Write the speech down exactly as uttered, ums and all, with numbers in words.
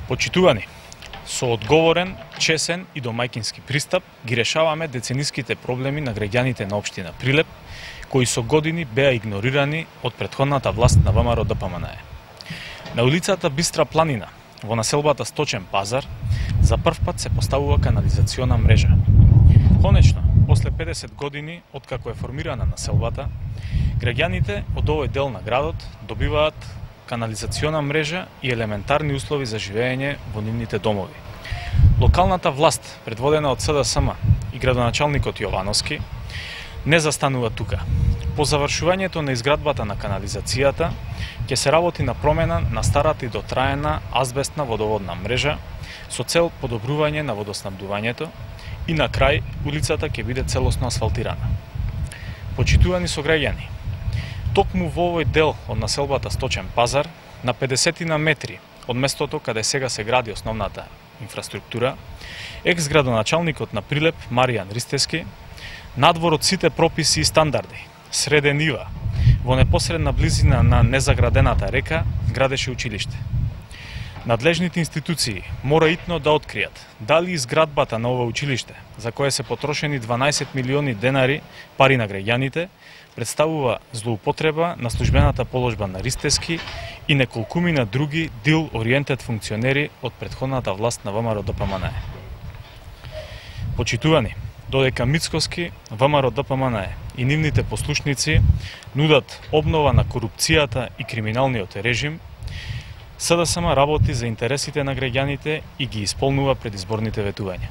Почитувани, со одговорен, чесен и домајкински пристап ги решаваме децениските проблеми на граѓаните на општина Прилеп, кои со години беа игнорирани од претходната власт на ВМРО Д П М Н Е. На улицата Бистра планина, во населбата Сточен пазар, за прв пат се поставува канализациона мрежа. Конечно, после педесет години откако е формирана населбата, граѓаните од овој дел на градот добиваат канализациона мрежа и елементарни услови за живење во нивните домови. Локалната власт, предводена од С Д С М и градоначалникот Јовановски, не застанува тука. По завршувањето на изградбата на канализацијата, ќе се работи на промена на старата и дотраена азбестна водоводна мрежа со цел подобрување на водоснабдувањето и на крај улицата ќе биде целосно асфалтирана. Почитувани сограѓани, токму во овој дел од населбата Сточен пазар, на педесетина метри од местото каде сега се гради основната инфраструктура, екс-градоначалникот на Прилеп Маријан Ристевски, надвор од сите прописи и стандарди, среде нива, во непосредна близина на незаградената река, градеше училиште. Надлежните институции мора итно да откријат дали изградбата на ова училиште, за кое се потрошени дванаесет милиони денари пари на граѓаните, представува злоупотреба на службената положба на Ристевски и неколкумина други дил-ориентед функционери од претходната власт на ВМРО Д П М Н Е. Почитувани, додека Мицкоски, ВМРО Д П М Н Е и нивните послушници нудат обнова на корупцијата и криминалниот режим, С Д С М работи за интересите на граѓаните и ги исполнува предизборните ветувања.